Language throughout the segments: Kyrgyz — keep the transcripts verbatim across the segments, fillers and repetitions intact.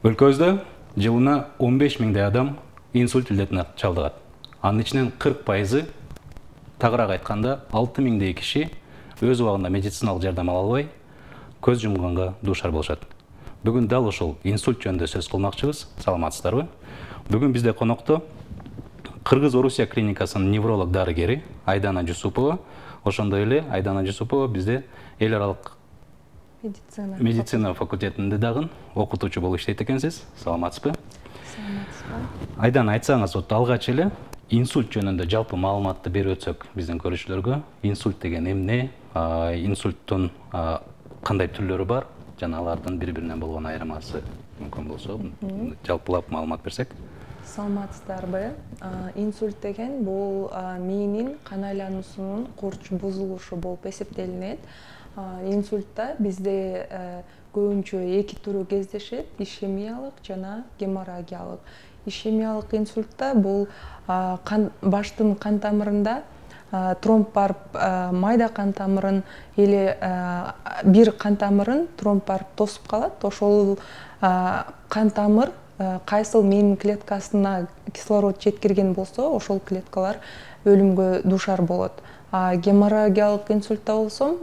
Өлкөбүздө жылына он беш миңдей адам инсульт илдетине чалдыгат. Анын ичинен кырк пайызы, тагыраак айтканда алты миңдей киши өз убагында медициналык жардам ала албай, көз жумганга дуушар болушат. Бүгүн дал ушул инсульт жөнүндө сөз кылмакчыбыз. Саламатсыздарбы? Бүгүн бизде конокто Кыргыз-Орусия клиникасынын невролог дарыгери Айдана Жусупова. Ошондой эле Айдана Жусупова бизде эл аралык медицина медицина факультетинде дагы окутуучу болуп иштейт экенсиз. Саламатсызбы? Саламатсызбы. Айдана, айтсаңыз, вот алгач эле инсульт жөнүндө жалпы маалыматты берип өтсөк биздин көрүүчүлөргө. Инсульт деген эмне? Инсульттун кандай түрлөрү бар? Жана алардын бири-биринен болгон айырмасы мүмкүн болсо, жалпылап маалымат берсек. Саламатсыздарбы? Инсульт деген бул мээнин кан айлануусунун курч бузулушу болуп эсептелинет. Инсультта бизде көбүнчө эки түрү кездешет: ишемиялык жана геморрагиялык. Ишемиялык инсультта бул баштын кан тамырында тромб барып, майда кан тамырын или бир кан тамырын тромб барып тосуп калат. Ошол кан тамыр кайсыл мээнин клеткасына кислород жеткирген болсо, ошол клеткалар өлүмгө дуушар болот. Геморрагиялык инсультта болсом,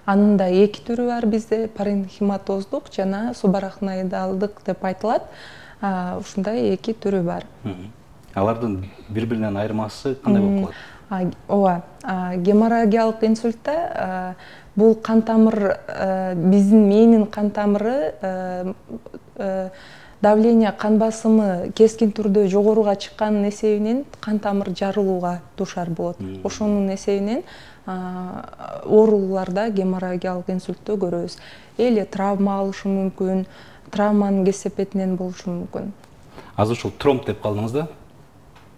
анын да эки түрү бар бизде: паренхематоздук жана субарахноидалдык деп айтылат. Ушундай эки түрү бар. Алардын бири-биринен айырмасы кандай болуп калат? Ооба, геморрагиялык инсультта бул кан тамыр, биздин мээнин кан тамыры давление, кан басымы кескин түрдө жогоруга чыккандын эсебинен кан тамыр жарылууга дуушар болот. Ошонун эсебинен оорулууларда геморрагиялык инсультту көрөбүз. Эле травма алышы мүмкүн, травманын кесепетинен болушу мүмкүн. Азыр ушул тромб деп калдыңыз да.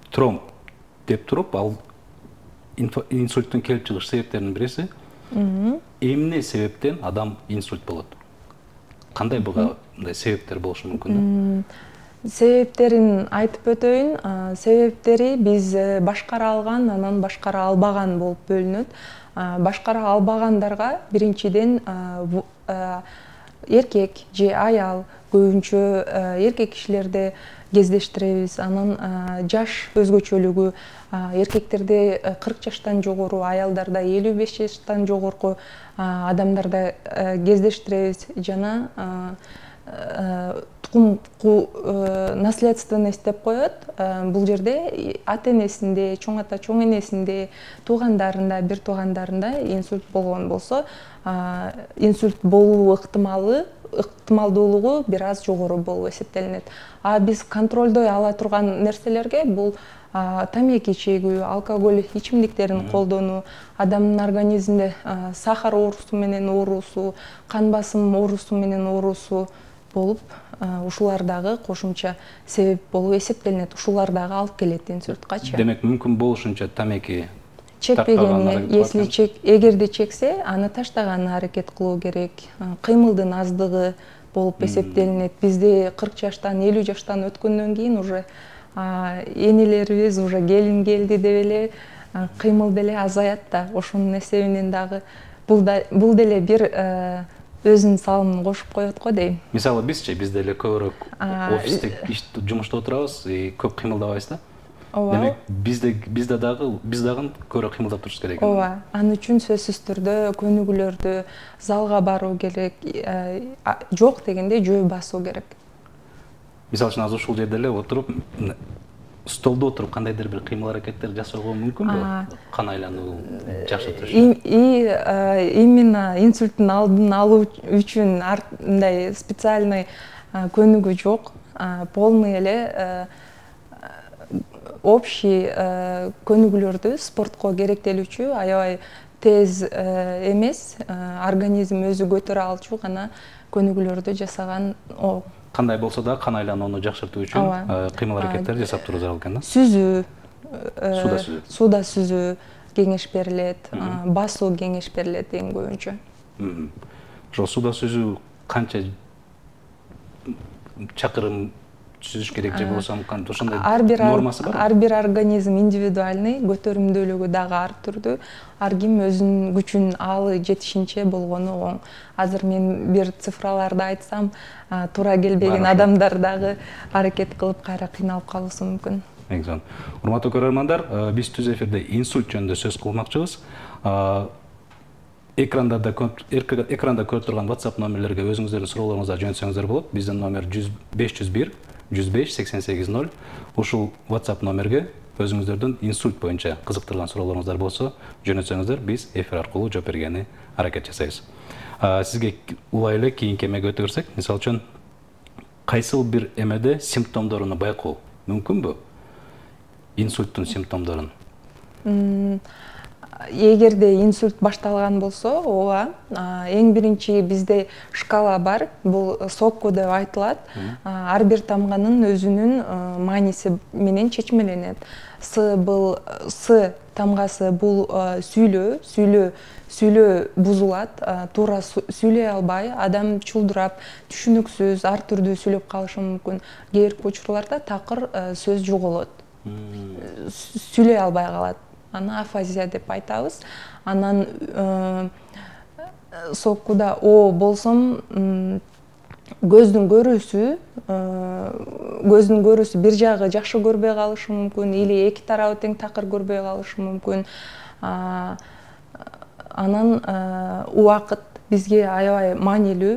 Тромб деп туруп, ал инсульттун келип чыгыш себептеринин бириси. Эмне себептен адам инсульт болот? Кандай буга мындай себептер болушу мүмкүн? Себептерин айтып өтөйүн. Себептери биз башкара алган, анан башкара албаган болуп бөлүнөт. Башкара албагандарга биринчиден эркек же аял, көбүнчө эркек кишилерде кездештиребиз. Анан жаш өзгөчөлүгү: эркектерде кырк жаштан жогору, аялдарда элүү беш жаштан жогорку адамдарда кездештиребиз. Жана тукум наследственность деп коет. Бул жерде ата энесинде, чоң ата чоң энесинде, туугандарында, бир туугандарында инсульт болгон болсо, инсульт болуу ыктымалы ыктымалдуулугу бир аз жогору болуп эсептелинет. А биз контролдой ала турган нерселерге бул тамеки чегүү, алкоголь ичимдиктерин колдонуу, адамдын организминде сахар оорусу менен оорусу, кан басым оорусу менен оорусу болуп, ушулар дагы кошумча себеп болуп эсептелинет. Ушулар дагы алып келет инсульткачы. Демек, мүмкүн болушунча тамеки чекпегени, если чек, эгерде чексе, аны таштаганына аракет кылуу керек. Кыймылдын аздыгы болуп эсептелинет. Бизде кырк жаштан, элүү жаштан өткөндөн кийин уже энелерибиз уже келин келди деп эле кыймыл деле азаят да. Ошонун эсебинен дагы бул деле бир өзүнүн салымын кошуп коет го дейм. Мисалы бизчи, биз деле көбүрөөк офисте жумушта отурабыз, көп кыймылдабайбыз да. Демек, бизде бизде дагы биз дагы көбүрөөк кыймылдап турушубуз керек. Ооба, аны үчүн сөзсүз түрдө көнүгүүлөрдү, залга баруу керек, жок дегенде жөө басуу керек. Мисалы үчүн азыр ушул жерде эле отуруп, столдо отуруп кандайдыр бир кыймыл аракеттер жасоого мүмкүнбү? Кан айлануу жакшыртыш. Именно инсульттун алдын алуу үчүн мындай специальный көнүгүү жок. Полный эле общий көнүгүүлөрдү, спортко керектелүүчү, аябай тез эмес, организм өзү көтөрө алчу гана көнүгүүлөрдү жасаган. Кандай болсо да кан айланууну жакшыртуу үчүн кыймыл аракеттер жасап туруу зарыл экен да. Сүзүү, суда сүзүү, суда сүзүү кеңеш берилет, басуу кеңеш берилет эң көбүнчө. Ошол суда сүзүү канча чакырым түзүш керек же болбосо кантип ошондой ар бир нормасы бар? Ар бир организм индивидуальный, көтөрүмдүүлүгү дагы ар түрдүү. Ар ким өзүнүн күчүн аалы жетишинче болгону оң. Азыр мен бир цифраларды айтсам, туура келбеген адамдар дагы аракет кылып кайра кыйналып калышы мүмкүн. Экзон. Урматтуу көрөрмандар, биз түз эфирде инсульт жөнүндө сөз кылмакчыбыз. Экранда экранда көрүп турган WhatsApp номерлерге өзүңүздөрдүн суроолоруңузду жөнөтсөңүздөр болот. Биздин номер беш жүз бир жүз беш сексен сегиз ноль. Ушул WhatsApp номерге өзүңүздөрдүн инсульт боюнча кызыктырган суроолоруңуздар болсо жөнөтсөңүздөр, биз эфир аркылуу жооп бергени аракет жасайбыз. Сизге улай эле кийинки эмеге өтө берсек, мисалы үчүн кайсыл бир эмеде симптомдорун байкоо мүмкүнбү? Инсульттун симптомдорун. Эгерде инсульт башталган болсо, ооба, эң биринчи бизде шкала бар. Бул сокку деп айтылат. Ар бир тамганын өзүнүн мааниси менен чечмеленет. С бул С тамгасы бул сүйлөө, сүйлөө, сүйлөө бузулат, туура сүйлөй албай, адам чулдурап, түшүнүксүз, ар түрдүү сүйлөп калышы мүмкүн. Кээ бир учурларда такыр сөз жоголот. Сүйлөй албай калат. Аны афазия деп айтабыз. Анан соккуда О болсом көздүн көрүүсү, көздүн көрүүсү бир жагы жакшы көрбөй калышы мүмкүн, или эки тарабы тең такыр көрбөй калышы мүмкүн. Анан убакыт бизге аябай маанилүү.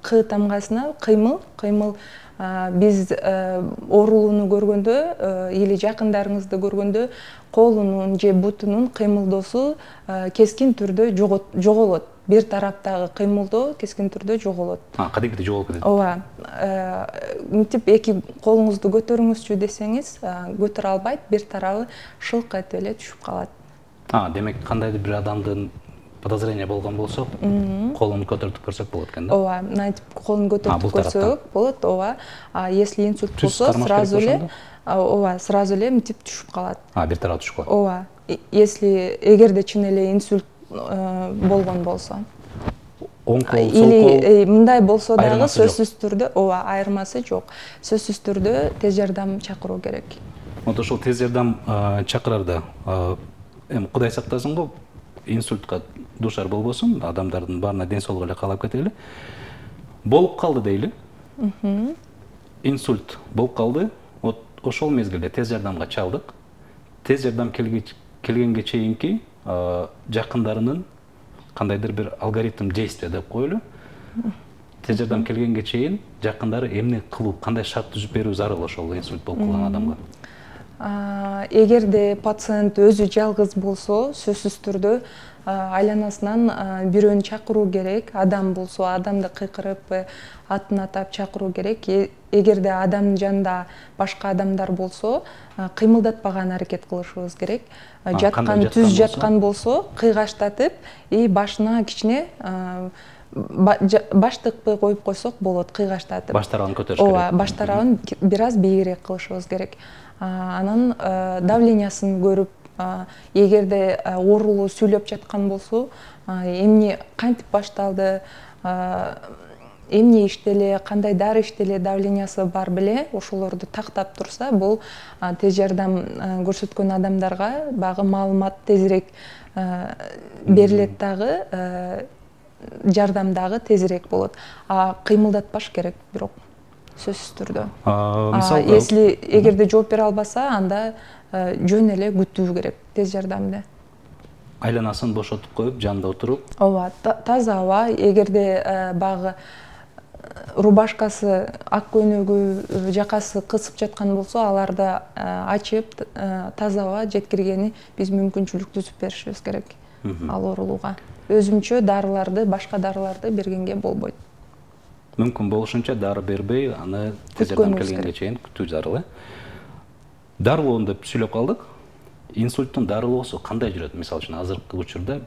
К тамгасына кыймыл, кыймыл биз оорулууну көргөндө или жакындарыңызды көргөндө колунун же бутунун кыймылдоосу кескин түрдө жоголот. Бир тараптагы кыймылдоо кескин түрдө жоголот. Кадимки жоголуп кетет. Ооба. Мынтип эки колуңузду көтөрүңүзчү десеңиз, көтөрө албайт, бир тарабы шылк этип эле түшүп калат. Демек кандайдыр бир адамдын подозрение болгон болсо, колун көтөртүп көрсөк болот экен да? Ооба, мынтип колун көтөртүп көрсөк болот, ооба. А если инсульт болсо, сразу эле, ооба, сразу эле мынтип түшүп калат. А, бир тарабы түшүп калат. Ооба. Если эгерде чын эле инсульт болгон болсо. Оң кол, сол кол. Или мындай болсо дагы сөзсүз түрдө, ооба, айырмасы жок. Сөзсүз түрдө тез жардам чакыруу керек. Вот ошол тез жардам чакырарда, эми Кудай сактасын го, инсультка душар болбосун, адамдардын баарына ден соолугу эле каалап кетели. Болуп калды дейли. Инсульт болуп калды. Вот ошол мезгилде тез жардамга чалдык. Тез жардам келгенге чейинки жакындарынын кандайдыр бир алгоритм действия деп коелу. Тез жардам келгенге чейин жакындары эмне кылуу, кандай шарт түзүп берүү зарыл ошол инсульт болуп калган адамга? Эгерде пациент өзү жалгыз болсо, сөзсүз түрдө айланасынан бирөөнү чакыруу керек. Адам болсо, адамды кыйкырып, атын атап чакыруу керек. Эгерде адамдын жанында башка адамдар болсо, кыймылдатпаган аракет кылышыбыз керек. Жаткан, түз жаткан болсо, кыйгаштатып, и башына кичине баш тыкпай коюп койсок болот, кыйгаштатып. Баш тарабын көтөрүш керек. Ооба, баш тарабын бир аз бийигирээк кылышыбыз керек. Анан давлениясын көрүп, эгерде оорулуу сүйлөп жаткан болсо, эмне кантип башталды, эмне иштеле, кандай дары иштеле, давлениясы бар беле, ошолорду тактап турса, бул тез жардам көрсөткөн адамдарга багы маалымат тезирээк берилет дагы, жардам дагы тезирээк болот. А кыймылдатпаш керек бирок сөзсүз түрдө. Если эгерде жооп бере албаса, анда жөн эле күтүү керек тез жардамды. Айланасын бошотуп коюп, жанында отуруп. Ооба, таза аба, эгерде багы рубашкасы, ак көйнөгү, жакасы кысып жаткан болсо, аларды ачып, таза аба жеткиргени биз мүмкүнчүлүк түзүп беришибиз керек ал оорулууга. Өзүмчө дарыларды, башка дарыларды бергенге болбойт. Мүмкүн болушунча дары бербей, аны тез жардам келгенге чейин күтүү зарыл. Дарылоону деп сүйлөп калдык. Инсульттун дарылоосу кандай жүрөт? Мисалы үчүн азыркы учурда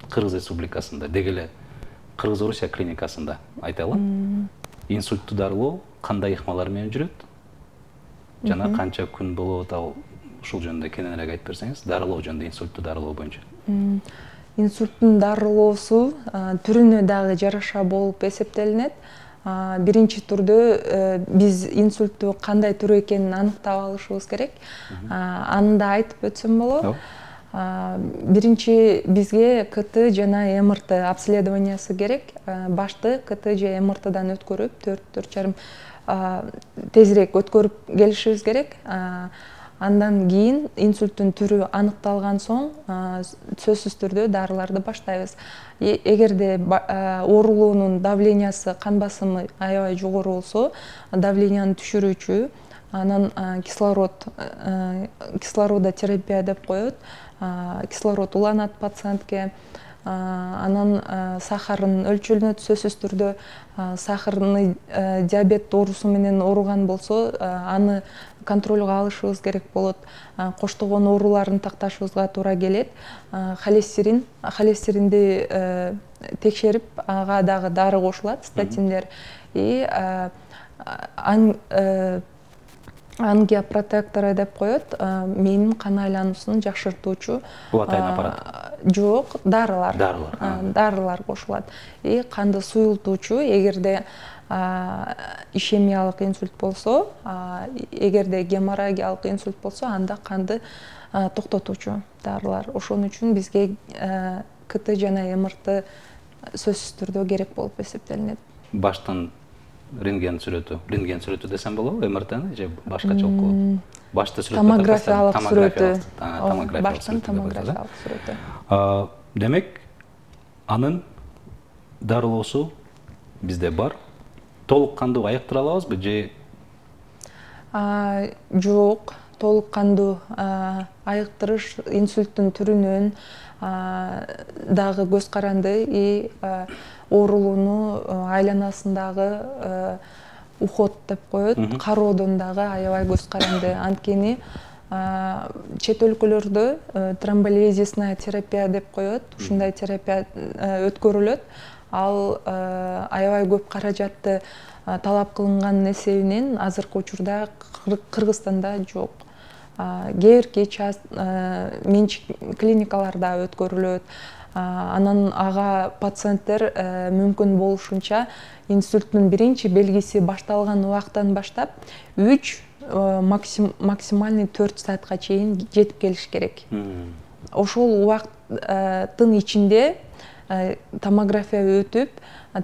Кыргыз Республикасында, деги эле Кыргыз Орусия клиникасында айталы. Инсультту дарылоо кандай ыкмалар менен жүрөт? Жана канча күн болот, ал ушул жөнүндө кененирээк айтып берсеңиз, дарылоо жөнүндө, инсультту дарылоо боюнча. Инсульттун дарылоосу түрүнө дагы жараша болуп эсептелинет. биринчи түрдө биз инсультту кандай түрү экенин аныктап алышыбыз керек. Аны да айтып өтсөм болобу? Биринчи бизге КТ жана МРТ обследованиясы керек. Башты КТ же МРТдан өткөрүп, төрт төрт жарым тезирээк өткөрүп келишибиз керек. Андан кийин инсульттун түрү аныкталган соң сөзсүз түрдө дарыларды баштайбыз. Эгерде оорулуунун давлениясы, кан басымы аябай жогору болсо, давленияны түшүрүүчү, анан кислород кислородотерапия деп коет. Кислород уланат пациентке. Анан сахарын өлчөлүнөт, сөзсүз түрдө сахарный диабет оорусу менен ооруган болсо, аны контролго алышыбыз керек болот. Коштогон ооруларын такташыбызга туура келет. Холестерин, холестеринди текшерип, ага дагы дары кошулат, статиндер. И ангиопротекторы деп коет, мээңин кан айлануусун жакшыртуучу. Булатайын аппарат? Жок, дарылар. Дарылар. Дарылар кошулат. И канды суюлтуучу, эгерде ишемиялык инсульт болсо, эгерде геморрагиялык инсульт болсо, анда канды токтотуучу дарылар. Ошон үчүн бизге КТ жана МРТ сөзсүз түрдө керек болуп эсептелинет. Баштан рентген сүрөтү, рентген сүрөтү десем болобу, МРТны же башкача окуп? Башты сүрөт. Томографиялык сүрөтү. Баштын томографиялык сүрөтү. Демек, анын дарылоосу бизде бар. Толук кандуу айыктыра алабызбы же? Жок, толук кандуу айыктырыш инсульттун түрүнөн дагы көз каранды и оорулууну айланасындагы уход деп коет, кароодон дагы аябай көз каранды. Анткени чет өлкөлөрдө тромболизисная терапия деп коет, ушундай терапия өткөрүлөт. Ал аябай көп каражатты талап кылынганын эсебинен азыркы учурда Кыргызстанда жок. Кээ бирки менчик клиникаларда өткөрүлөт. Анан ага пациенттер мүмкүн болушунча инсульттун биринчи белгиси башталган убактан баштап үч максимальный төрт саатка чейин жетип келиш керек. Ошол убакыттын ичинде томография өтүп,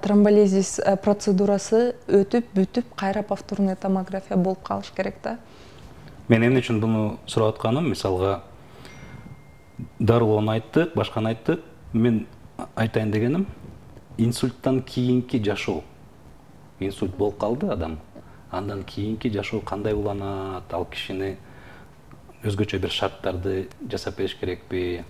тромболизис процедурасы өтүп, бүтүп, кайра повторный томография болуп калыш керек да. Мен эмне үчүн буну сурап атканым, мисалга дарылоону айттык, башканы айттык. Мен айтайын дегеним, инсульттан кийинки жашоо. Инсульт болуп калды адам. Андан кийинки жашоо кандай уланат? Ал кишини өзгөчө бир шарттарды жасап бериш керекпи?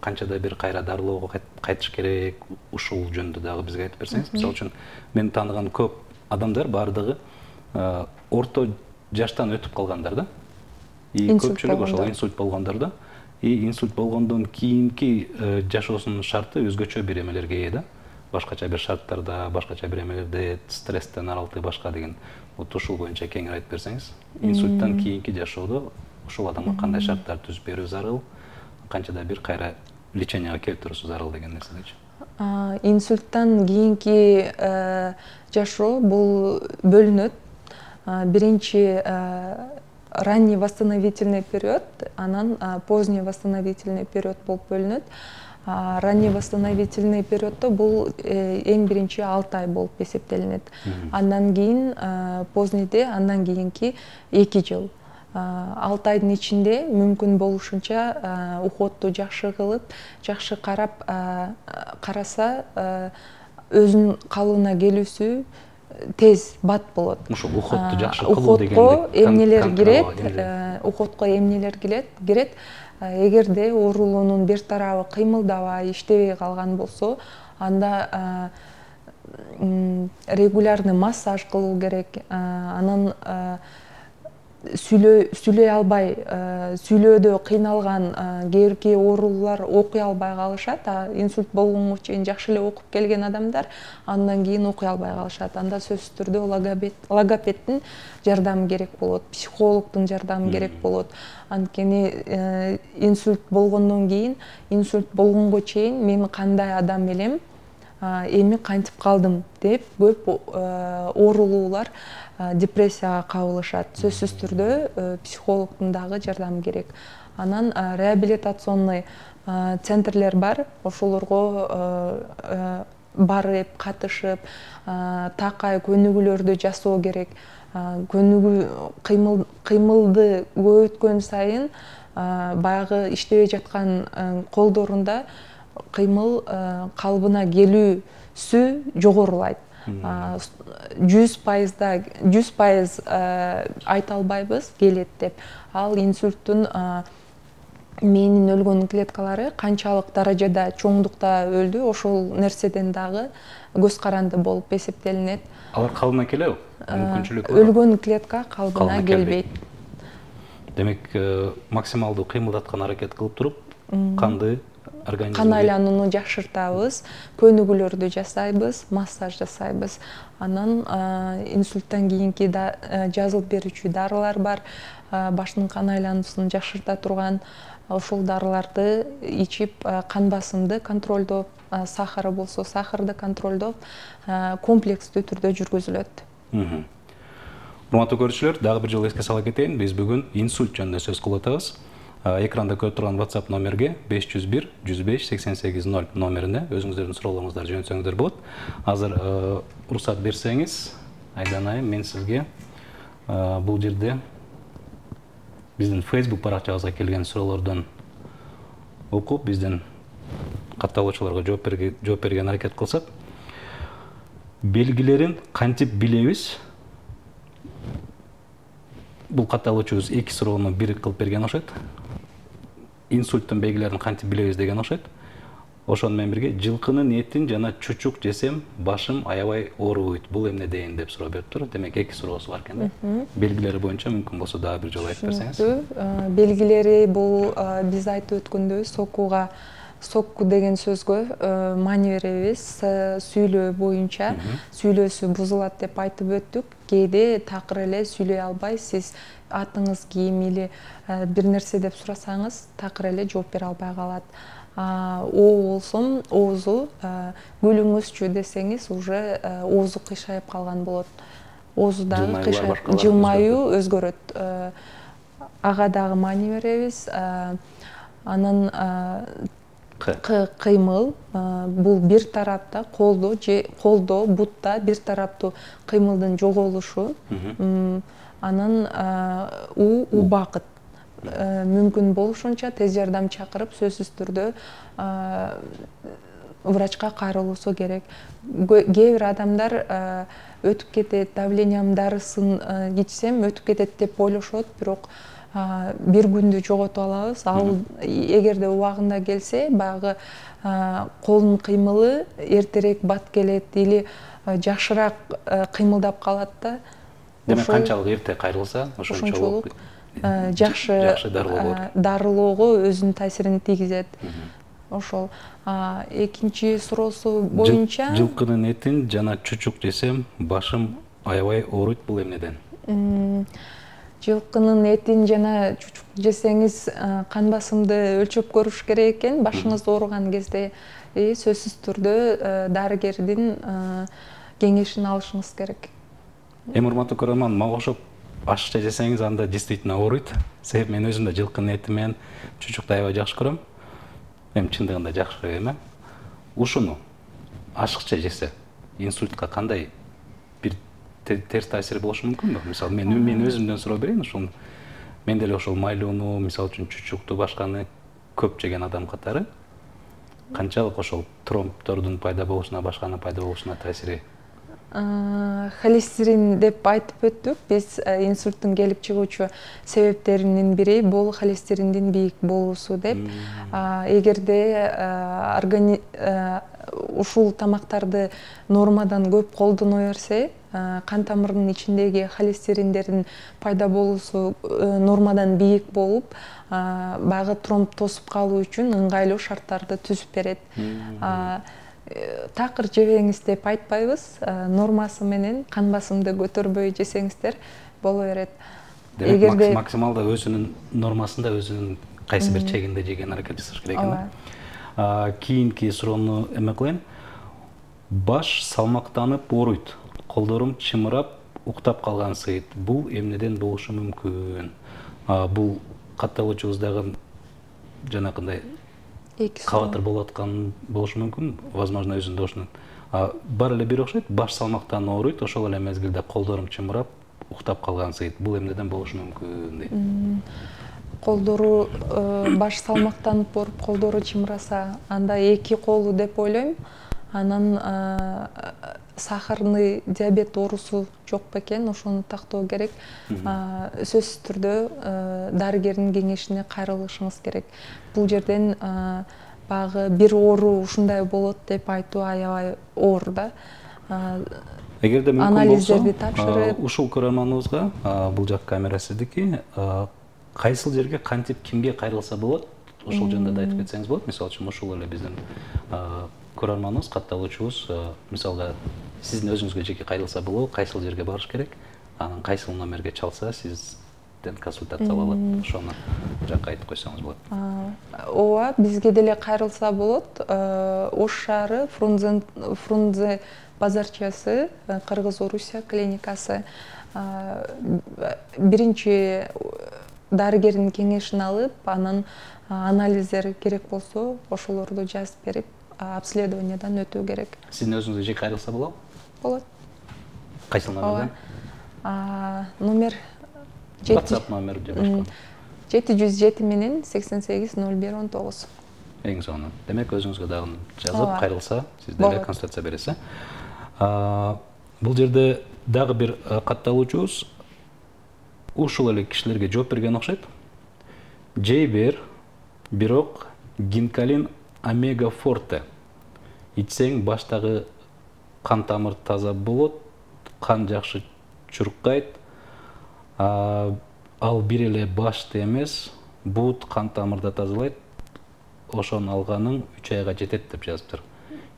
Канчада бир кайра дарылоого кайтыш керек? Ушул жөнүндө дагы бизге айтып берсеңиз. Мисалы үчүн мен тааныган көп адамдар бардыгы орто жаштан өтүп калгандар да. И көпчүлүк ошол инсульт болгондар да. И инсульт болгондон кийинки жашоосунун шарты өзгөчө бир эмелерге ээ да. Башкача бир шарттарда, башкача бир эмелерде, стресстен аралык башка деген. Вот ушул боюнча кеңири айтып берсеңиз. Инсульттан кийинки жашоодо ошол адамга кандай шарттар түзүп берүү зарыл, канчада бир кайра леченияга келтирүүсү зарыл деген нерседечи. Инсульттан кийинки жашоо бул бөлүнөт. Биринчи ранний восстановительный период, анан поздний восстановительный период болуп бөлүнөт. Ранний восстановительный периоддо бул эң биринчи алты ай болуп эсептелинет. Андан кийин позднийде, андан кийинки эки жыл. алты айдын ичинде мүмкүн болушунча уходду жакшы кылып, жакшы карап караса, өзүнүн калыбына келүүсү тез бат болот. Ушул уходду жакшы кылуу дегенде уходко эмнелер кирет? Уходко эмнелер кирет? Кирет. Эгерде оорулуунун бир тарабы кыймылдабай, иштебей калган болсо, анда регулярный массаж кылуу керек. Анан сүйлөй албай, сүйлөөдө кыйналган кээ бирки оорулуулар окуй албай калышат. Инсульт болгонго чейин жакшы эле окуп келген адамдар андан кийин окуй албай калышат. Анда сөзсүз түрдө логопедтин жардамы керек болот, психологдун жардамы керек болот. Анткени инсульт болгондон кийин, инсульт болгонго чейин мен кандай адам элем, эми кантип калдым деп көп оорулуулар депрессияга кабылышат. Сөзсүз түрдө психологдун дагы жардамы керек. Анан реабилитационный центрлер бар, ошолорго барып, катышып, такай көнүгүүлөрдү жасоо керек. Көнүгүү кыймылды көбөйткөн сайын баягы иштебей жаткан колдорунда кыймыл калыбына келүүсү жогорулайт. жүз пайызда жүз пайыз айта албайбыз келет деп. Ал инсульттун мээнин өлгөн клеткалары канчалык даражада чоңдукта өлдү, ошол нерседен дагы көз каранды болуп эсептелинет. Алар калыбына келеби? Мүмкүнчүлүк бар? Өлгөн клетка калыбына келбейт. Демек, максималдуу кыймылдаткан аракет кылып туруп, канды организмге кан айланууну жакшыртабыз, көнүгүүлөрдү жасайбыз, массаж жасайбыз. Анан инсульттан кийинки жазылып берүүчү дарылар бар, баштын кан айлануусун жакшырта турган. Ошол дарыларды ичип, кан басымды контролдоп, сахары болсо сахарды контролдоп, комплекстүү түрдө жүргүзүлөт. Урматтуу көрүүчүлөр, дагы бир жолу эске сала кетейин, биз бүгүн инсульт жөнүндө сөз кылып атабыз. Экранда көрүп турган WhatsApp номерге беш жүз бир жүз беш сексен сегиз ноль номерине өзүңүздөрдүн суроолоруңуздарды жөнөтсөңүздөр болот. Азыр уруксат берсеңиз, Айдан айым, мен сизге бул жерде биздин Facebook баракчабызга келген суроолордон окуп, биздин катталуучуларга жооп берген аракет кылсак, белгилерин кантип билебиз? Бул катталуучубуз эки суроону бир кылып берген окшойт. Инсульттун белгилерин кантип билебиз деген окшойт. Ошону менен бирге жылкынын этин жана чучук жесем башым аябай ооруйт. Бул эмне дейин деп суроо бериптир. Демек эки суроосу бар экен да. Белгилери боюнча мүмкүн болсо дагы бир жолу айтып берсеңиз. Белгилери бул биз айтып өткөндөй сокуга сокку деген сөзгө маани беребиз. Сүйлөө боюнча сүйлөөсү бузулат деп айтып өттүк. Кээде такыр эле сүйлөй албай, сиз атыңыз ким или бир нерсе деп сурасаңыз, такыр эле жооп бере албай калат. Оо болсом, оозу күлүңүзчү десеңиз, уже оозу кыйшайып калган болот. Оозу дагы кыйшайып, жылмаюу өзгөрөт. Ага дагы маани беребиз. Анан кыймыл, бул бир тарапта колдо же колдо, бутта бир тараптуу кыймылдын жоголушу. Анан у убакыт. Мүмкүн болушунча тез жардам чакырып, сөзсүз түрдө врачка кайрылуусу керек. Кээ бир адамдар өтүп кетет, давлениям дарысын ичсем өтүп кетет деп ойлошот, бирок бир күндү жоготуп алабыз. Ал эгерде убагында келсе, баягы колдун кыймылы эртерээк бат келет или жакшыраак кыймылдап калат да. Демек канчалык эрте кайрылса, ошончолук жакшы дарылоого өзүнүн таасирин тийгизет. Ошол. Экинчи суроосу боюнча жылкынын этин жана чучук жесем башым аябай ооруйт, бул эмнеден? Жылкынын этин жана чучук жесеңиз кан басымды өлчөп көрүш керек экен. Башыңыз ооруган кезде сөзсүз түрдө дарыгердин кеңешин алышыңыз керек. Эми урматтуу көрөрман, мага окшоп ашыкча жесеңиз анда действительно ооруйт. Себеби мен өзүм да жылкынын эти менен чучукту аябай жакшы көрөм. Эми чындыгында жакшы эме. Ушуну ашыкча жесе инсультка кандай бир терс таасири болушу мүмкүнбү? Мисалы, мен мен өзүмдөн суроо берейин ушуну. Мен деле ошол майлууну, мисалы үчүн чучукту, башканы көп жеген адам катары канчалык ошол тромбтордун пайда болушуна, башканын пайда болушуна таасири? Холестерин деп айтып өттүк. Биз инсульттун келип чыгуучу себептеринин бири бул холестериндин бийик болуусу деп. Эгерде ушул тамактарды нормадан көп колдоно берсе, кан тамырынын ичиндеги холестериндердин пайда болуусу нормадан бийик болуп, баягы тромб тосуп калуу үчүн ыңгайлуу шарттарды түзүп берет. Такыр жебеңиз деп айтпайбыз, нормасы менен кан басымды көтөрбөй жесеңиздер боло берет. Демек максималда өзүнүн нормасында, өзүнүн кайсы бир чегинде жеген аракет жасаш керек экен. Кийинки суроону эме кылайын. баш салмактанып ооруйт, колдорум чымырап, уктап калган сыйт. Бул эмнеден болушу мүмкүн? Бул катталуучубуздагы жанакындай кабатыр болуп аткан болушу мүмкүн. Возможно, өзүнүн дошунан. Баары эле бир окшойт, баш салмактан ооруйт, ошол эле мезгилде колдорум чымырап, уктап калган сыйт. Бул эмнеден болушу мүмкүн дейт. Колдору баш салмактанып ооруп, колдору чымыраса, анда эки колу деп ойлойм. Анан сахарный диабет оорусу жок бекен, ошону тактоо керек. Сөзсүз түрдө дарыгердин кеңешине кайрылышыңыз керек. Бул жерден багы бир оору ушундай болот деп айтуу аябай оор да. Эгерде мүмкүн анализдерди тапшырып, ушул көрөрманыбызга, бул жак камера сиздики, кайсыл жерге кантип кимге кайрылса болот? Ошол жөнүндө да айтып кетсеңиз болот. Мисалы үчүн ушул эле биздин көрөрманыбыз, катталуучубуз, мисалга сиздин өзүңүзгө жеке кайрылса болобу, кайсыл жерге барыш керек? Анан кайсыл номерге чалса сизден консультация ала алат? Ошону жакка айтып койсоңуз болот. Ооба, бизге деле кайрылса болот. Ош шаары Фрунзе базарчасы, Кыргыз-Орусия клиникасы. Биринчи дарыгердин кеңешин алып, анан анализдер керек болсо, ошолорду жазып берип, обследованиядан өтүү керек. Сиздин өзүңүзгө жеке кайрылса болобу? Болот. Кайсыл номерден? Номер WhatsApp номер же башка? жети жүз жети менен сексен сегиз ноль бир он тогуз. Эң сонун. Демек өзүңүзгө дагы жазып кайрылса, сиз деле консультация бересиз. Бул жерде дагы бир катталуучубуз ушул эле кишилерге жооп берген окшойт. Жей бер, бирок гинкалин омега форте ичсең баштагы кан тамыр таза болот, кан жакшы чуркайт. Ал бир эле башты эмес, бут кан тамырда тазалайт. Ошону алганың үч айга жетет деп жазыптыр.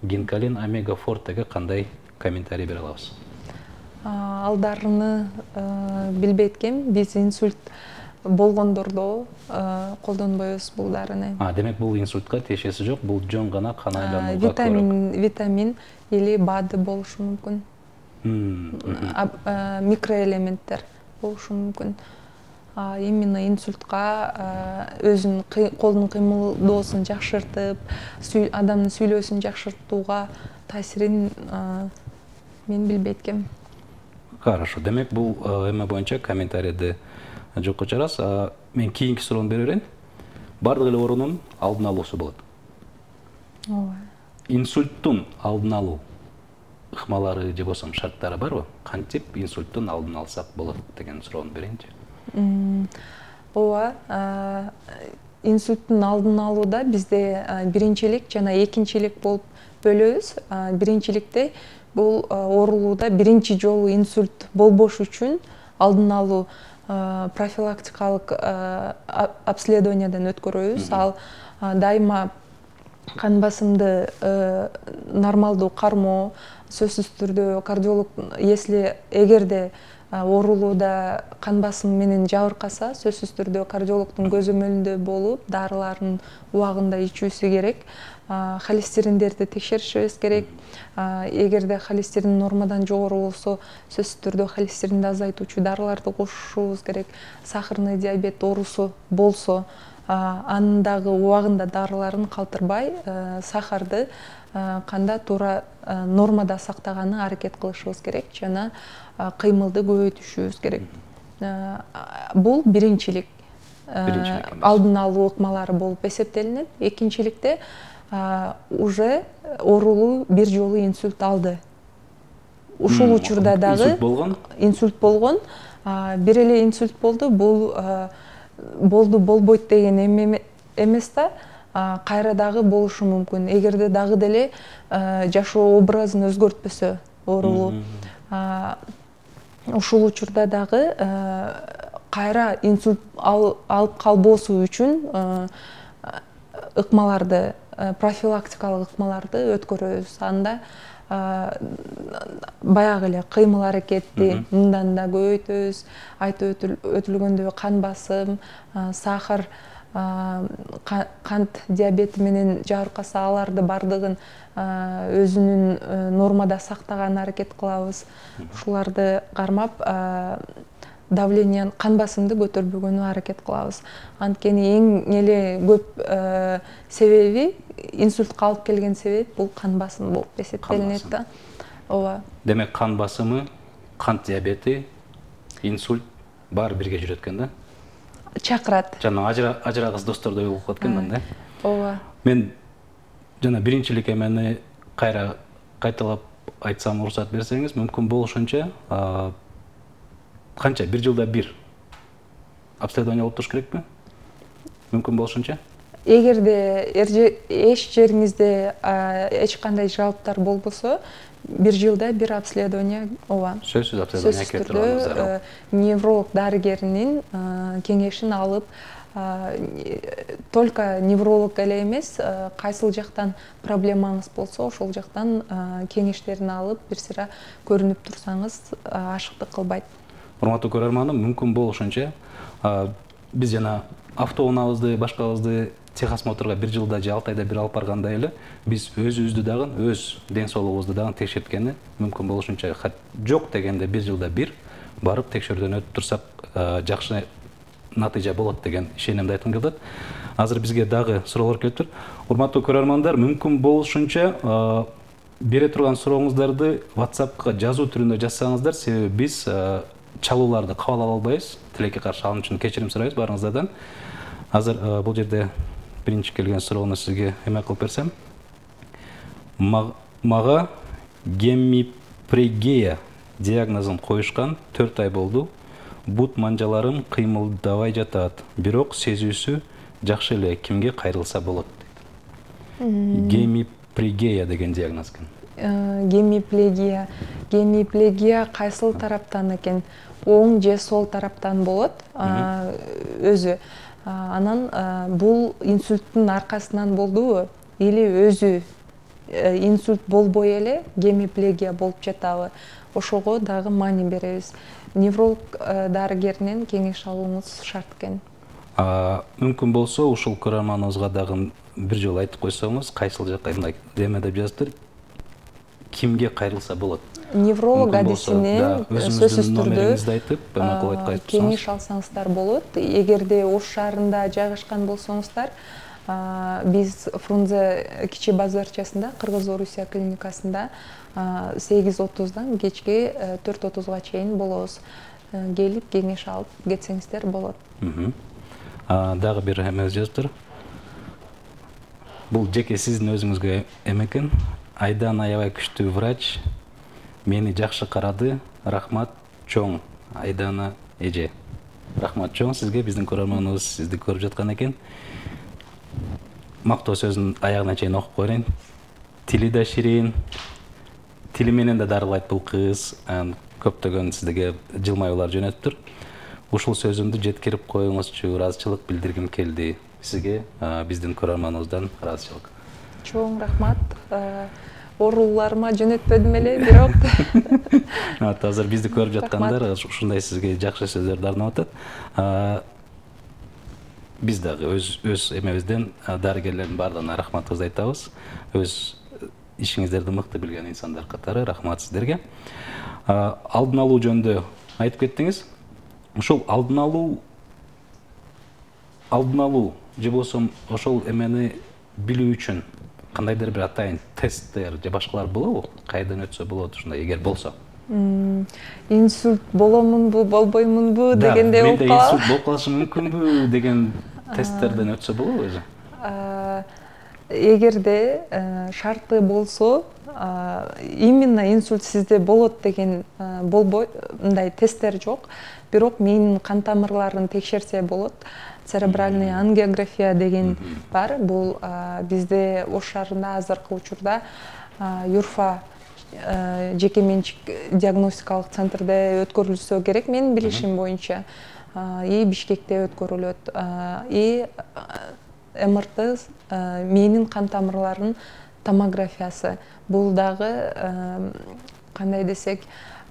Гинкалин омега фортеге кандай комментарий бере алабыз? Алдарыны билбейт экенмин. Биз инсульт болгондордо колдонбойбуз бул дарыны. Демек бул инсультка тиешеси жок, бул жөн гана кан айланууга көрөк. Витамин, витамин или БАД болушу мүмкүн. Микроэлементтер болушу мүмкүн. Именно инсультка өзүнүн колдун кыймылдоосун жакшыртып, адамдын сүйлөөсүн жакшыртууга таасирин мен билбейт экенмин. Хорошо. Демек бул эме боюнча комментарийди жокко чыгарабыз. Мен кийинки суроону бере берейин. Бардык эле оорунун алдын алуусу болот. Ооба. Инсульттун алдын алуу ыкмалары же болбосо шарттары барбы? Кантип инсульттун алдын алсак болот деген суроону берейинчи. Ооба, инсульттун алдын алууда бизде биринчилик жана экинчилик болуп бөлөбүз. Биринчиликте бул оорулууда биринчи жолу инсульт болбош үчүн алдын алуу профилактикалык обследованиядан өткөрөбүз. Ал дайыма кан басымды нормалдуу кармоо, сөзсүз түрдө кардиолог, если эгерде оорулууда кан басым менен жабыркаса, сөзсүз түрдө кардиологдун көзөмөлүндө болуп, дарыларын убагында ичүүсү керек. Холестериндерди текшеришибиз керек. Эгерде холестерин нормадан жогору болсо, сөзсүз түрдө холестеринди азайтуучу дарыларды кошушубуз керек. Сахарный диабет оорусу болсо, андагы убагында дарыларын калтырбай, сахарды канда туура нормада сактаганы аракет кылышыбыз керек жана кыймылды көбөйтүшүбүз керек. Бул биринчилик алдын алуу ыкмалары болуп эсептелинет. Экинчиликте уже оорулуу бир жолу инсульт алды. Ушул учурда дагы инсульт болгон, бир эле инсульт болду. Бул болду болбойт деген эмес да, кайра дагы болушу мүмкүн. Эгерде дагы деле жашоо образын өзгөртпөсө оорулуу, ушул учурда дагы кайра инсульт алып калбоосу үчүн ыкмаларды, профилактикалык ыкмаларды өткөрөбүз. Анда баягы эле кыймыл аракетти мындан да көбөйтөбүз. Айтып өтүлгөндөй кан басым, сахар кант диабети менен жабыркаса аларды бардыгын өзүнүн нормада сактаганына аракет кылабыз. Ушуларды кармап давлениянын, кан басымды көтөрбөгөнгө аракет кылабыз. Анткени эң эле көп себеби, инсультка алып келген себеп бул кан басымы болуп эсептелинет да. Ооба. Демек кан басымы, кант диабети, инсульт баары бирге жүрөт экен да? Чакырат. Жана ажырагыс достордой болуп калат экен да? Ооба. Мен жана биринчилик эмени кайра кайталап айтсам, уруксат берсеңиз, мүмкүн болушунча канча бир жылда бир обследование болуп туруш керекпи? Мүмкүн болушунча? Эгерде эч жериңизде эч кандай жалоптар болбосо, бир жылда бир обследование, ооба. Сөзсүз обследование керек турганыңыз зарыл. Невролог дарыгеринин кеңешин алып, только невролог эле эмес, кайсыл жактан проблемаңыз болсо, ошол жактан кеңештерин алып, бир сыйра көрүнүп турсаңыз, ашыктык кылбайт. Урматтуу көрөрманым, мүмкүн болушунча биз жана автоунаабызды, башкабызды техосмотрга бир жылда же алты айда бир алып баргандай эле, биз өзүбүздү дагы, өз ден соолугубузду дагы текшерткени мүмкүн болушунча жок дегенде бир жылда бир барып текшерүүдөн өтүп турсак, жакшы натыйжа болот деген ишенимди айткым келет. Азыр бизге дагы суроолор келиптир. Урматтуу көрөрмандар, мүмкүн болушунча бере турган сурооңуздарды WhatsAppка жазуу түрүндө жазсаңыздар, себеби биз чалууларды кабыл ала албайбыз. Тилекке каршы алым үчүн кечирим сурайбыз баарыңыздардан. Азыр бул жерде биринчи келген суроону сизге эме кылып берсем. Мага гемипрегия диагнозун коюшкан төрт ай болду. Бут манжаларым кыймылдабай жатат, бирок сезүүсү жакшы эле. Кимге кайрылса болот? Гемипрегия деген диагноз экен. Гемиплегия. Гемиплегия кайсыл тараптан экен? Оң же сол тараптан болот өзү. Анан бул инсульттун аркасынан болдубу? Или өзү инсульт болбой эле гемиплегия болуп жатабы? Ошого дагы маани беребиз. Невролог дарыгеринен кеңеш алууңуз шарт экен. Мүмкүн болсо, ушул көрөрманыбызга дагы бир жолу айтып койсоңуз, кайсыл жакка мындай деме деп жазыптыр. Кимге кайрылса болот? Невролог адисинен сөзсүз түрдө айтып, кеңеш алсаңыздар болот. Эгерде Ош шаарында жайгашкан болсоңуздар, биз Фрунзе кичи базарчасында, Кыргыз-Орусия клиникасында сегиз отуздан кечки төрт отузга чейин болобуз. Келип кеңеш алып кетсеңиздер болот. Дагы бир эме жазыптыр. Бул жеке сиздин өзүңүзгө эме экен. Айдан аябай күчтүү врач мени жакшы карады. Рахмат чоң. Айдана эже. Рахмат чоң сизге, биздин көрөрманыбыз сизди көрүп жаткан экен. Мактоо сөзүн аягына чейин окуп коеюн. Тили да ширин. Тили менен да дарылайт бул кыз. Көптөгөн сизге жылмаюулар жөнөттүр. Ушул сөзүмдү жеткирип коюңузчу, ыраазычылык билдиргим келди. Сизге биздин көрөрманыбыздан ыраазычылык. Чоң рахмат. Ооруларыма жөнөтпөдүм эле, бирок. Азыр бизди көрүп жаткандар ушундай сизге жакшы сөздөрдү арнап атат. Биз дагы өз өз эмебизден дарыгерлердин баардыгына рахматыбызды айтабыз. Өз ишиңиздерди мыкты билген инсандар катары рахмат сиздерге. Алдын алуу жөнүндө айтып кеттиңиз. Ушул алдын алуу алдын алуу же болсо ошол эмени билүү үчүн кандайдыр бир атайын тесттер же башкалар болобу? Кайдан өтсө болот ушундай эгер болсо? Инсульт боломунбу, болбоймунбу дегендей болуп калат. Менде инсульт болуп калышы мүмкүнбү деген тесттерден өтсө болобу өзү? Эгерде шарты болсо, именно инсульт сизде болот деген болбой, мындай тесттер жок. Бирок мээнин кан тамырларын текшерсе болот. Церебральный ангиография деген бар. Бул бизде Ош шаарында азыркы учурда Юрфа жеке менчик диагностикалык центрде өткөрүлсө керек, менин билишим боюнча. И Бишкекте өткөрүлөт. И МРТ мээнин кан тамырларынын томографиясы. Бул дагы кандай десек,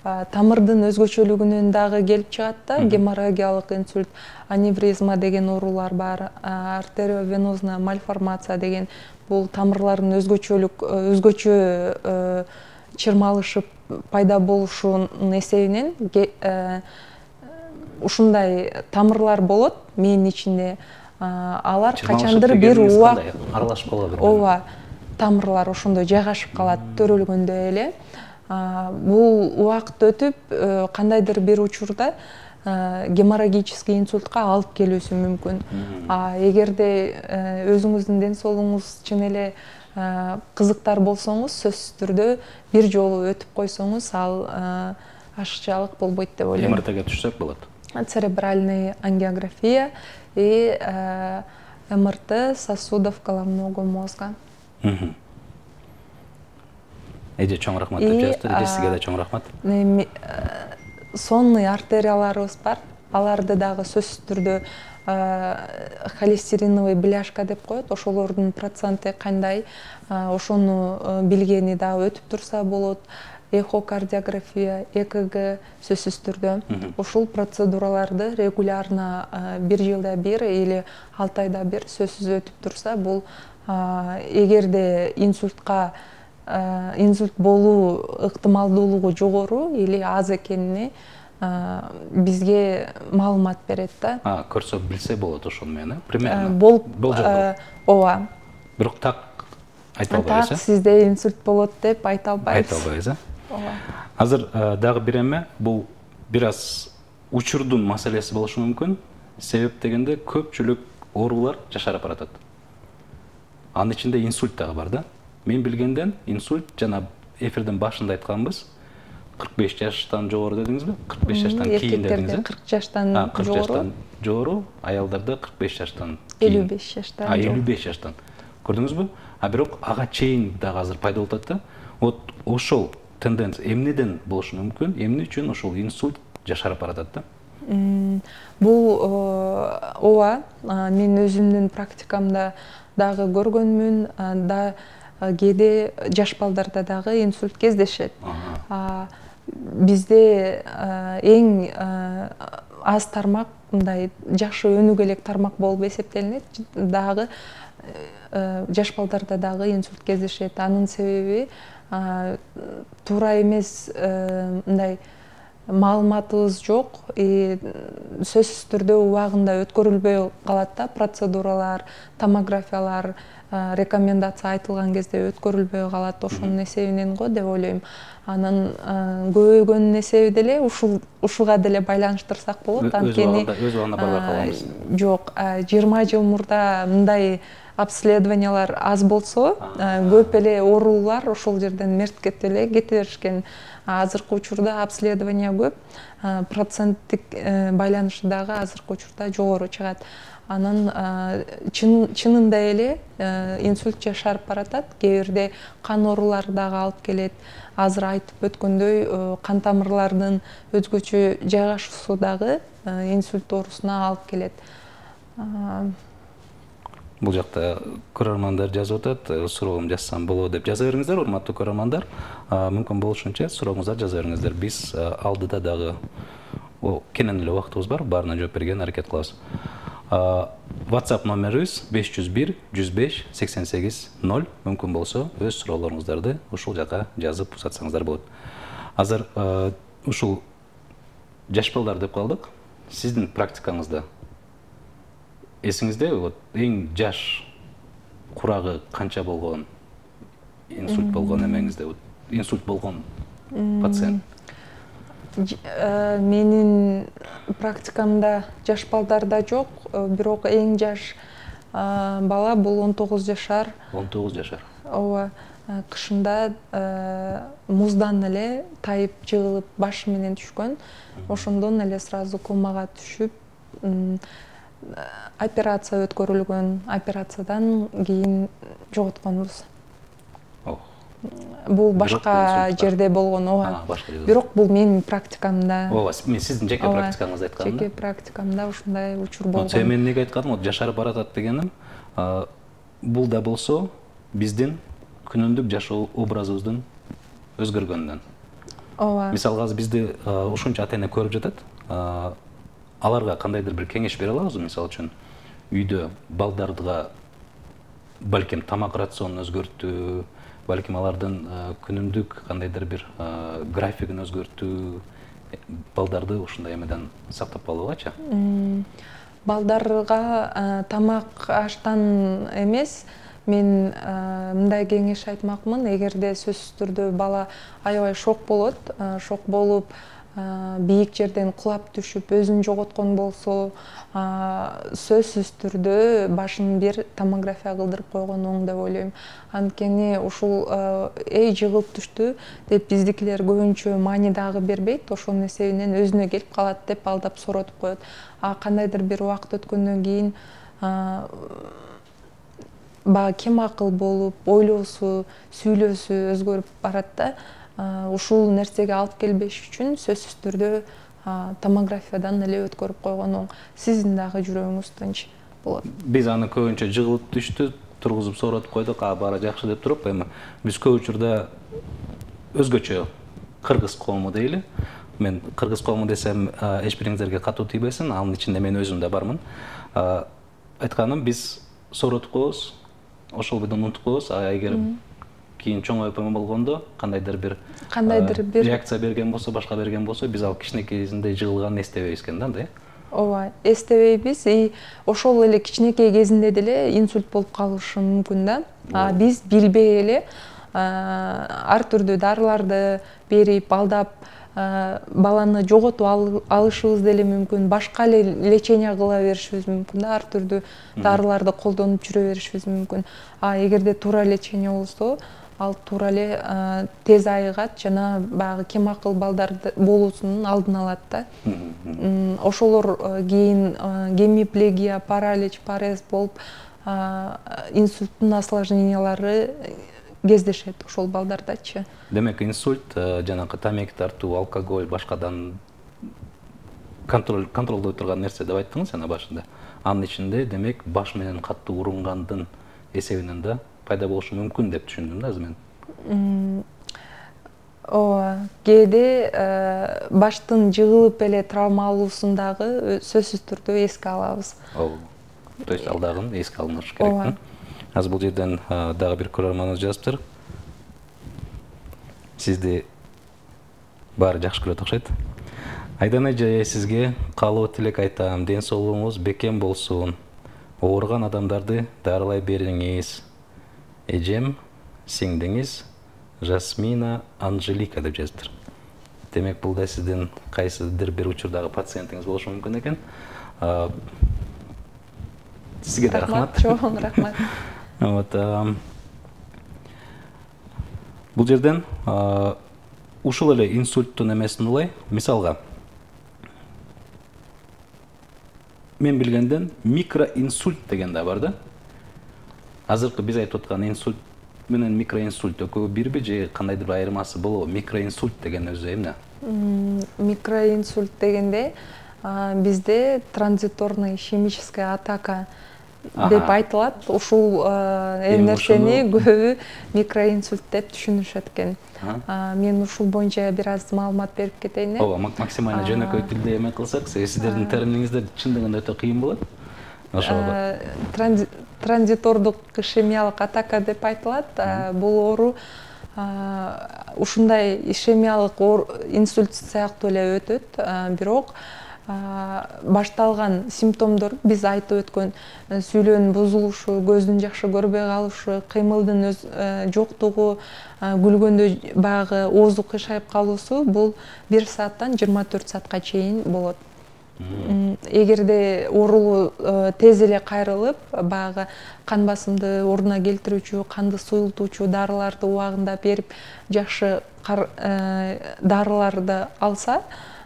тамырдын өзгөчөлүгүнөн дагы келип чыгат да. Геморрагиялык инсульт, аневризма деген оорулар бар, артериовенозная мальформация деген бул тамырлардын өзгөчөлүк өзгөчө чырмалышып пайда болушунун эсебинен ушундай тамырлар болот мээнин ичинде. Алар качандыр бир убак аралашып калат. Ооба, тамырлар ошондо жайгашып калат төрөлгөндөй эле. Бул убакыт өтүп кандайдыр бир учурда геморрагический инсультка алып келүүсү мүмкүн. Эгерде өзүңүздүн ден соолугуңуз чын эле кызыктар болсоңуз, сөзсүз түрдө бир жолу өтүп койсоңуз, ал ашыкчалык болбойт деп ойлойм. эм эр тэге түшсөк болот. Церебральный ангиография и эм эр тэ сосудов головного мозга. Эже чоң рахмат деп жазды. Эже сизге да чоң рахмат. Сонный артерияларыбыз бар. Аларды дагы сөзсүз түрдө холестериновый бляшка деп коет. Ошолордун проценти кандай, ошону билгени дагы өтүп турса болот. Эхокардиография, э ка гэ сөзсүз түрдө. Ушул процедураларды регулярно бир жылда бир или алты айда бир сөзсүз өтүп турса, бул эгерде инсультка инсульт болуу ыктымалдуулугу жогору или аз экенине бизге маалымат берет да. Көрсө билсе болот ошону менен, примерно. Болжол. Ооба. Бирок так айта албайбыз. Так сизде инсульт болот деп айта албайбыз. Айта албайбыз, э? Ооба. Азыр дагы бир эме, бул бир аз учурдун маселеси болушу мүмкүн. Себеп дегенде көпчүлүк оорулар жашарып баратат. Анын ичинде инсульт дагы бар да. Мен билгенден инсульт жана эфирдин башында айтканбыз, кырк беш жаштан жогору дедиңизби? кырк беш жаштан кийин дедиңиз. кырк жаштан жогору. кырк жаштан жогору, аялдарда кырк беш жаштан кийин. элүү беш жаштан. А элүү беш жаштан. Көрдүңүзбү? А бирок ага чейин дагы азыр пайда болуп атат да. Вот ошол тенденция эмнеден болушу мүмкүн? Эмне үчүн ошол инсульт жашарып баратат да? Бул ооба, мен өзүмдүн практикамда дагы көргөнмүн, да кээде жаш балдарда дагы инсульт кездешет. Бизде эң аз тармак, мындай жакшы өнүгө элек тармак болуп эсептелинет, дагы жаш балдарда дагы инсульт кездешет. Анын себеби туура эмес мындай маалыматыбыз жок, сөзсүз түрдө убагында өткөрүлбөй калат да, процедуралар, томографиялар, рекомендация айтылган кезде өткөрүлбөй калат. Ошонун эсебинен го деп ойлойм. Анын көбөйгөнүнүн эсеби деле ушуга деле байланыштырсак болот. Анткени өз убагында барбай калганбыз. Жок, жыйырма жыл мурда мындай обследованиялар аз болсо, көп эле оорулар ошол жерден мерт кетип эле кете беришкен. Азыркы учурда обследование көп, проценттик байланышы дагы азыркы учурда жогору чыгат. Анан чынында эле инсульт жашарып баратат. Кээ бирде кан оорулары дагы алып келет. Азыр айтып өткөндөй, кан тамырлардын өзгөчө жайгашуусу дагы инсульт оорусуна алып келет. Бул жакта көрөрмандар жазып атат, суроом жазсам болот деп жаза бериңиздер, урматтуу көрөрмандар. Мүмкүн болушунча сурооңуздар жаза бериңиздер. Биз алдыда дагы кенен эле убактыбыз бар, баарына жооп берген аракет кылабыз. WhatsApp номерибиз беш жүз бир жүз беш сексен сегиз ноль. Мүмкүн болсо өз суроолоруңуздарды ушул жака жазып узатсаңыздар болот. Азыр ушул жаш балдар деп калдык. Сиздин практикаңызда эсиңизде вот эң жаш курагы канча болгон, инсульт болгон эмеңизде, инсульт болгон пациент? Менин практикамда жаш балдарда жок, бирок эң жаш бала бул он тогуз жашар. он тогуз жашар. Ооба, кышында муздан эле тайып жыгылып башы менен түшкөн. Ошондон эле сразу комага түшүп, операция өткөрүлгөн. Операциядан кийин жоготконбуз. Бул башка жерде болгон, ооба. Бирок бул менин практикамда. Ооба, мен сиздин жеке практикаңызды айткам. Жеке практикамда ушундай учур болгон. Мен эмнеге айтканым, вот жашарып баратат дегеним, бул да болсо биздин күнүмдүк жашоо образыбыздын өзгөргөнүнөн. ооба. Мисалга азыр бизди ушунча ата эне көрүп жатат. Аларга кандайдыр бир кеңеш бере алабызбы? Мисалы үчүн үйдө балдарга балким тамак рационун өзгөртүү, балким алардын күнүмдүк кандайдыр бир графигин өзгөртүү, балдарды ушундай эмеден сактап калуугачы. Балдарга тамак аштан эмес, мен мындай кеңеш айтмакмын. Эгерде сөзсүз түрдө бала аябай шок болот, шок болуп бийик жерден кулап түшүп өзүн жоготкон болсо, сөзсүз түрдө башын бир томография кылдырып койгон оң деп ойлойм. Анткени ушул эй жыгылып түштү деп биздикилер көбүнчө маани дагы бербейт, ошонун эсебинен өзүнө келип калат деп алдап сооротуп коет. А кандайдыр бир убакыт өткөндөн кийин баягы кем акыл болуп, ойлоосу, сүйлөөсү өзгөрүп барат да. Ушул нерсеге алып келбеш үчүн сөзсүз түрдө томографиядан эле өткөрүп койгон оң. Сиздин дагы жүрөгүңүз тынч болот. Биз аны көбүнчө жыгылып түштү, тургузуп сооротуп койдук, а баары жакшы деп туруп, эми биз көп учурда өзгөчө кыргыз коому дейли. Мен кыргыз коому десем, эч бириңиздерге катуу тийбесин, анын ичинде мен өзүм да бармын. Айтканым, биз сооротуп коебуз, ошол бойдон унутуп коебуз, а эгер кийин чоңоюп эме болгондо кандайдыр бир кандайдыр бир реакция берген болсо, башка берген болсо, биз ал кичинекейинде жыгылганын эстебейбиз экен да, мындай. Ооба, эстебейбиз. И ошол эле кичинекей кезинде деле инсульт болуп калышы мүмкүн да. А биз билбей эле ар түрдүү дарыларды берип, алдап баланы жоготуп алышыбыз деле мүмкүн, башка эле лечение кыла беришибиз мүмкүн да, ар түрдүү дарыларды колдонуп жүрө беришибиз мүмкүн. А эгерде туура лечение болсо, ал туура эле тез айыгат жана баягы кем акыл балдар болуусунун алдын алат да. Ошолор кийин гемиплегия, паралич, парез болуп инсульттун осложнениялары кездешет ошол балдардачы. Демек, инсульт жанагы тамеки тартуу, алкоголь, башкадан контроль контролдой турган нерсе деп айттыңыз жана башында. Анын ичинде, демек, баш менен катуу урунгандын эсебинен да пайда болушу мүмкүн деп түшүндүм да азыр мен. Ооба, кээде баштын жыгылып эле травма алуусун дагы сөзсүз түрдө эске алабыз. Ооба. То есть ал дагы эске алынышы керек. Азыр бул жерден дагы бир көрөрманыбыз жазыптыр. Сизди баары жакшы көрөт окшойт. Айдана эже, сизге каалоо тилек айтам. Ден соолугуңуз бекем болсун. Ооруган адамдарды дарылай бериңиз. Эжем, сиңдиңиз Жасмина Анжелика деп жазыптыр. Демек, бул да сиздин кайсыдыр бир учурдагы пациентиңиз болушу мүмкүн экен. Сизге да рахмат. Чоң рахмат. Вот. Бул жерден ушул эле инсульттун эмесин улай, мисалга мен билгенден микроинсульт деген да бар да. Азыркы биз айтып аткан инсульт менен микроинсульт экөө бирби же кандайдыр бир айырмасы болобу? Микроинсульт деген өзү эмне? Микроинсульт дегенде бизде транзиторный ишемическая атака деп айтылат. Ушул нерсени көбү микроинсульт деп түшүнүшөт экен. Мен ушул боюнча бир аз маалымат берип кетейин. Ооба, максимально жөнөкөй тилде эме кылсак, сиздердин терминиңиздер чындыгында өтө кыйын болот. Ошого транзитордук ишемиялык атака деп айтылат. Бул оору ушундай ишемиялык инсульт сыяктуу эле өтөт, бирок башталган симптомдор биз айтып өткөн сүйлөөнүн бузулушу, көздүн жакшы көрбөй калышы, кыймылдын жоктугу, күлгөндө баягы оозу кыйшайып калуусу бул бир сааттан жыйырма төрт саатка чейин болот. Эгерде оорулуу тез эле кайрылып, баягы кан басымды ордуна келтирүүчү, канды суюлтуучу дарыларды убагында берип, жакшы дарыларды алса,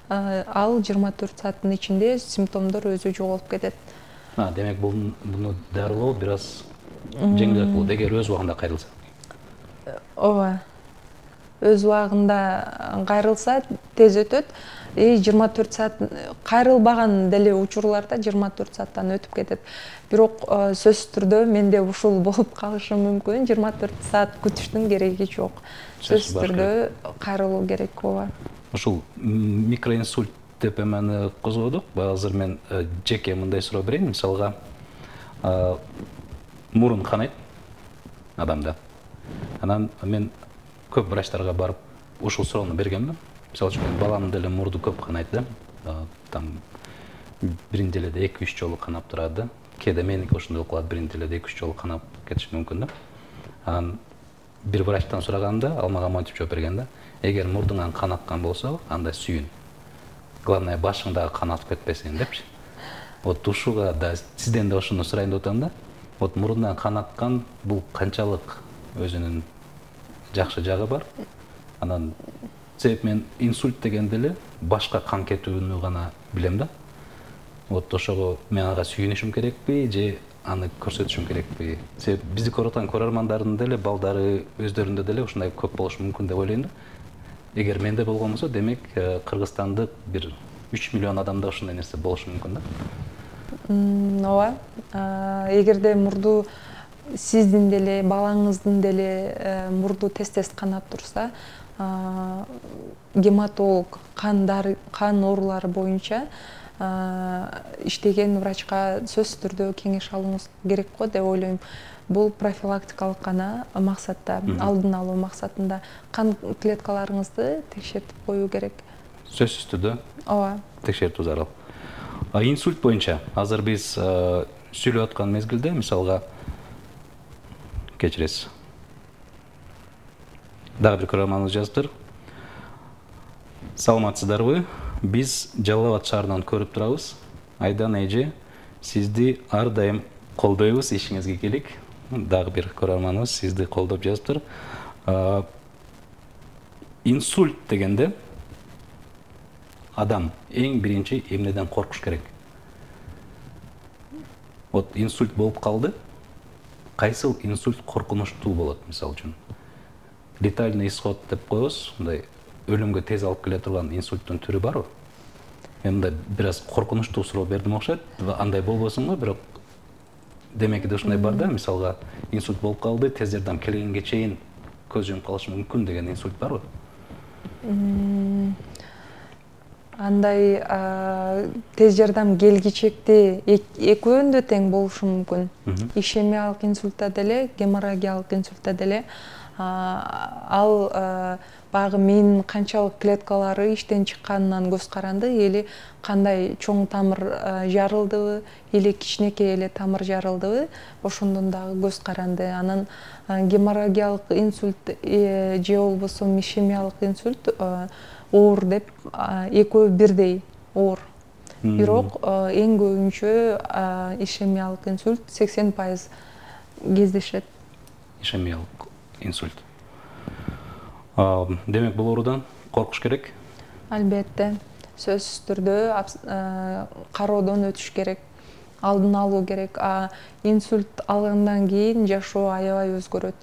ал жыйырма төрт сааттын ичинде симптомдор өзү жоголуп кетет. Демек, буну дарылоо бир аз жеңилирээк болот, эгер өз убагында кайрылса. Ооба. өз убагында кайрылса тез өтөт. И жыйырма төрт саат кайрылбаган деле учурларда жыйырма төрт сааттан өтүп кетет. Бирок сөзсүз түрдө менде ушул болуп калышы мүмкүн. жыйырма төрт саат күтүштүн кереги жок. Сөзсүз түрдө кайрылуу керек. ооба. Ушул микроинсульт деп эмени козгодук. Азыр мен жеке мындай суроо берейин. Мисалга мурун канайт адамда. Анан мен көп врачтарга барып ушул суроону бергенмин. Мисалы үчүн баламдын деле мурду көп канайт да. Там бир неделеде эки үч жолу канап турат да. Кээде меники ошондой болуп калат, бир неделеде эки үч жолу канап кетиши мүмкүн да. Анан бир врачтан сураганда ал мага монтип жооп берген да. Эгер мурдуңан кан аккан болсо, анда сүйүн. Главное башыңдагы кан атып кетпесин депчи. Вот ушуга да сизден да ошону сурайын деп атам да. Вот мурундан кан аккан бул канчалык өзүнүн жакшы жагы бар. Анан себеп мен инсульт дегенде эле башка кан кетүүнү гана билем да. Вот ошого мен ага сүйүнүшүм керекпи же аны көрсөтүшүм керекпи? Себеп бизди көрүп аткан көрөрмандардын деле балдары өздөрүндө деле ушундай көп болушу мүмкүн деп ойлойм да. Эгер менде болгон болсо, демек Кыргызстандык бир үч миллион адамда ушундай нерсе болушу мүмкүн да. Ооба. Эгерде мурду сиздин деле балаңыздын деле мурду тез-тез канап турса, гематолог кандар кан оорулары боюнча иштеген врачка сөзсүз түрдө кеңеш алууңуз керек го деп ойлойм. Бул профилактикалык гана максатта, алдын алуу максатында кан клеткаларыңызды текшертип коюу керек. Сөзсүз түрдө. Ооба. Текшертүү зарыл. Инсульт боюнча азыр биз сүйлөп аткан мезгилде, мисалга кечиресиз. Дагы бир көрөрманыбыз жазыптыр. Саламатсыздарбы? Биз Жалал Абад шаарынан көрүп турабыз. Айдан эже, сизди ар дайым колдойбуз, ишиңизге келик. Дагы бир көрөрманыбыз сизди колдоп жазыптыр. Инсульт дегенде адам эң биринчи эмнеден коркуш керек? Вот инсульт болуп калды. Кайсыл инсульт коркунучтуу болот, мисалы үчүн? Летальный исход деп коебуз, мындай өлүмгө тез алып келе турган инсульттун түрү барбы? Мен мындай бир аз коркунучтуу суроо бердим окшойт. Андай болбосун го, бирок демеки да ушундай бар да, мисалга инсульт болуп калды, тез жардам келгенге чейин көз жумуп калышы мүмкүн деген инсульт барбы? Андай тез жардам келгичекти экөөнү тең болушу мүмкүн. Ишемиялык инсультта деле, геморрагиялык инсультта деле ал баягы миянын канчалык клеткалары иштен чыкканынан көз каранды, или кандай чоң тамыр жарылдыбы, или кичинекей эле тамыр жарылдыбы, ошондон дагы көз каранды. Анан геморрагиялык инсульт же болбосо ишемиялык инсульт оор деп экөө бирдей оор. Бирок эң көбүнчө ишемиялык инсульт сексен пайыз кездешет. Ишемиялык инсульт. Демек бул оорудан коркуш керек? Албетте. Сөзсүз түрдө кароодон өтүш керек, алдын алуу керек. Инсульт алгандан кийин жашоо аябай өзгөрөт.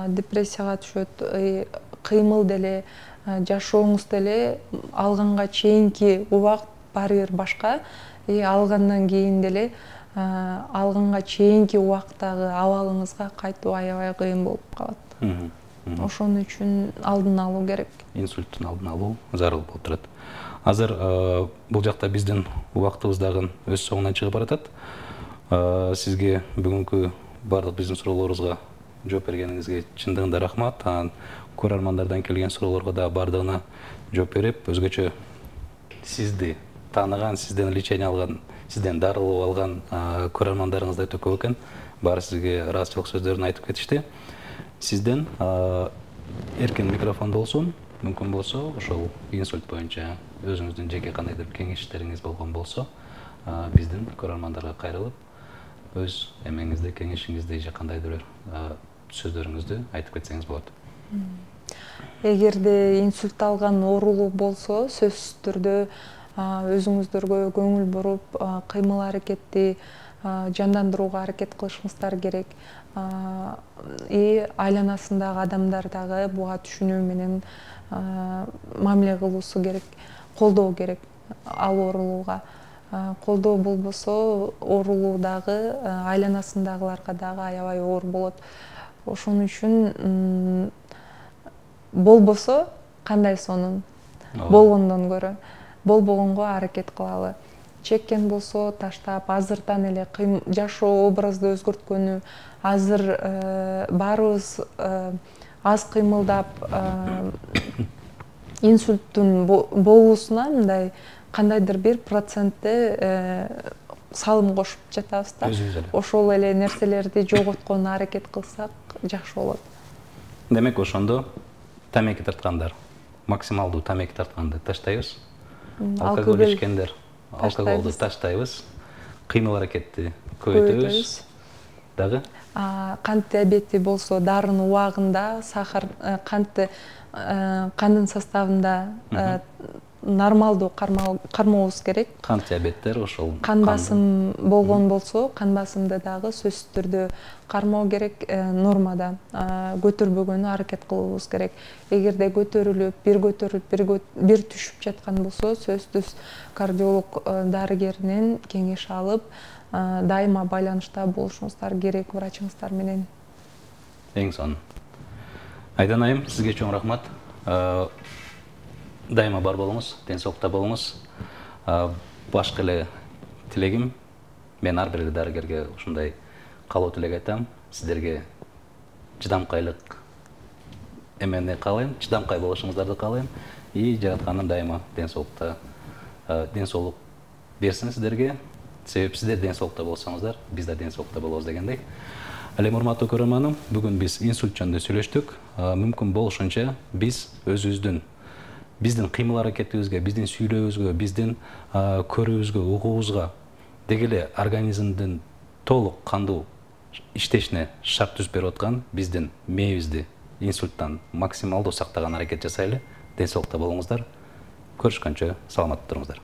Депрессияга түшөт, кыймыл деле, жашооңуз деле алганга чейинки убакыт баары бир башка. Алгандан кийин деле алганга чейинки убакыттагы абалыңызга кайтуу аябай кыйын болуп калат. Ошон үчүн алдын алуу керек. Инсульттун алдын алуу зарыл болуп турат. Азыр бул жакта биздин убактыбыз дагы өз соңуна чыгып баратат. Сизге бүгүнкү бардык биздин суроолорубузга жооп бергениңизге чындыгында рахмат. Анан көрөрмандардан келген суроолорго да бардыгына жооп берип, өзгөчө сизди тааныган, сизден лечение алган, сизден дарылоо алган көрөрмандарыңыз да өтө көп экен. Баары сизге ыраазычылык сөздөрүн айтып кетишти. Сизден эркен микрофон болсун, мүмкүн болсо ошол инсульт боюнча өзүңүздүн жеке кандайдыр кеңештериңиз болгон болсо, биздин көрөрмандарга кайрылып, өз эмеңизди, кеңешиңизди же кандайдыр бир сөздөрүңүздү айтып кетсеңиз болот. Эгерде инсульт алган оорулуу болсо, сөзсүз түрдө өзүңүздөргө көңүл буруп, кыймыл аракетти жандандырууга аракет кылышыбыздар керек. И айланасындагы адамдар дагы буга түшүнүү менен мамиле кылуусу керек, колдоо керек ал оорулууга. Колдоо болбосо оорулуу дагы айланасындагыларга дагы аябай оор болот. Ошон үчүн болбосо кандай сонун, болгондон көрө болбогонго аракет кылалы. Чеккен болсо таштап, азыртан эле жашоо образды өзгөрткөнү, азыр баарыбыз аз кыймылдап инсульттун болуусуна мындай кандайдыр бир процентти салым кошуп жатабыз да. Ошол эле нерселерди жоготконго аракет кылсак жакшы болот. Демек ошондо тамеки тарткандар, максималдуу тамеки тартканды таштайбыз. Алкоголь ичкендер алкоголду таштайбыз. Кыймыл аракетти көбөйтөбүз. Дагы кант диабети болсо дарынын убагында сахар кантты кандын составында нормалдуу кармообуз керек. Кант диабеттер ошол. Кан басым болгон болсо, кан басымды дагы сөзсүз түрдө кармоо керек, нормада көтөрбөгөнү аракет кылуубуз керек. Эгерде көтөрүлүп, бир көтөрүлүп, бир түшүп жаткан болсо, сөзсүз кардиолог дарыгеринен кеңеш алып, дайыма байланышта болушуңуздар керек врачыңыздар менен. Эң сонун. Айдан айым, сизге чоң рахмат. Дайыма бар болуңуз, ден соолукта болуңуз. Башкы эле тилегим, мен ар бир дарыгерге ушундай каалоо тилек айтам. Сиздерге чыдамкайлык эмени каалайм, чыдамкай болушуңуздарды каалайм. И жаратканым дайыма ден соолукта, ден соолук берсин сиздерге. Себеби сиздер ден соолукта болсоңуздар, биз да ден соолукта болобуз дегендей. Ал эми урматтуу көрөрманым, бүгүн биз инсульт жөнүндө сүйлөштүк. Мүмкүн болушунча биз өзүбүздүн биздин кыймыл аракетибизге, биздин сүйлөөбүзгө, биздин көрүүбүзгө, угуубузга деги эле организмдин толук кандуу иштешине шарт түзүп берип аткан биздин мээбизди инсульттан максималдуу сактаган аракет жасайлы. Ден соолукта болуңуздар. Көрүшкөнчө саламатта туруңуздар.